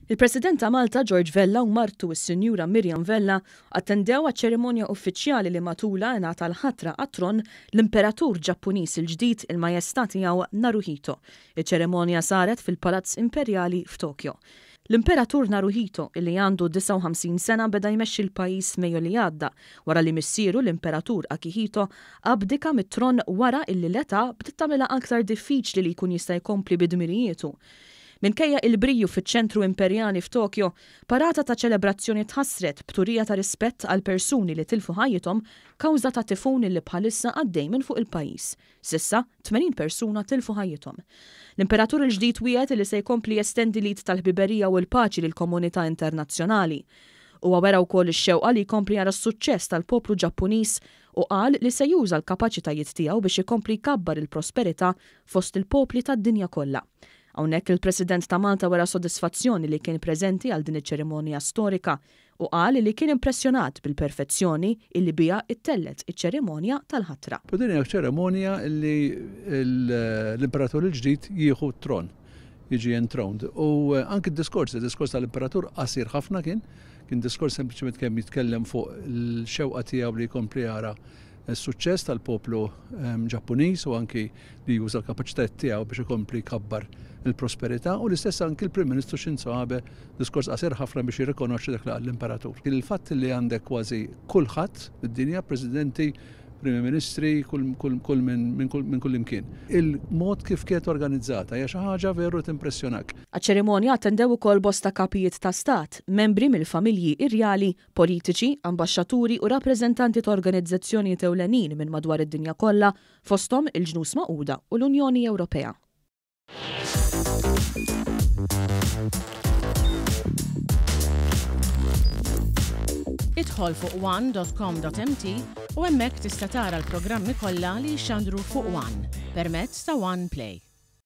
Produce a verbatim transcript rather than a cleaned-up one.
Il-President ta' Malta George Vella u martu s-Sinjura Miriam Vella attendew għaċ-ċerimonja uffiċjali li matulha ngħata l-ħatra għat-tron l-Imperatur Ġappuniż il-ġdid, il-Majestà Tiegħu Naruhito. Iċ-ċerimonja saret fil-Palazz Imperjali f'Tokyo. L-Imperatur Naruhito, illi għandu disgħa u ħamsin sena, beda jmexxi l-pajjiż Mejju li għadda wara li missieru l-Imperatur Akihito abdika mit-tron wara illi l-età bdiet tagħmilha aktar diffiċli li jkun jista' jkompli bi dmirijietu. Minkejja il-briju fiċ-ċentru imperjali f'Tokyo, parata ta' ċelebrazzjoni tħassret b'turija ta' rispett għal persuni li tilfu ħajjithom kawża ta' tifun li bħalissa għaddej minn fuq il-pajjiż. S'issa, tmenin persuna tilfu ħajjithom. L-Imperatur il-ġdid wiegħed li se jkompli jestendi l-id tal-ħbiberija u l-paċi lill-komunità internazzjonali. Huwa wera wkoll ix-xewqa li jkompli jara s-suċċess tal-poplu Ġappuniż u qal li se juża l-kapaċitajiet tiegħu biex ikompli jkabbar il-prosperità fost il-popli tad-dinja kollha. Hawnhekk il-President ta' Malta wera sodisfazzjoni li kien preżenti għal din iċ-ċerimonja storika u qal li kien impressjonat bil-perfezzjoni illi biha ttellgħet iċ-ċerimonja tal-ħatra. U din hija ċerimonja li l-Imperatur il-ġdid jieħu t-tron, jiġi enthroned. U anki d-diskors, id-diskors tal-Imperatur qasir ħafna kien, kien diskors sempliċement kemm jitkellem fuq l-xewqa tiegħu li jkompli jara s-suċċess tal-poplu, ehm, Ġappuniż u anki li juża l-kapaċitajiet tiegħu biex ikompli jkabbar il-prosperità, u l-istess anki l-Prim Ministru Shinzo Abe, diskors qasir ħafna biex jirrikonoxxi dak li qal l-Imperatur. Il-fatt li għandek kważi kulħadd fid-dinja, presidenti, primi ministri, kull, kull, kull minn, minn kull, minn kull imkien. Il-mod kif kienet organizzata hija xi ħaġa veru timpressjonak. Għaċ-ċerimonja attendew ukoll bosta kapijiet ta' stat, membri mill-familji irjali, politiċi, ambaxxaturi u rappreżentanti ta' organizzazzjonijiet ewlenin minn madwar id-dinja kollha, fosthom il-Ġnus Magħquda u l-Unjoni Ewropea. Idħol fuq one dot com dot M T u hemmhekk tista' tara l-programmi kollha li jxandru fuq One permezz ta' One Play.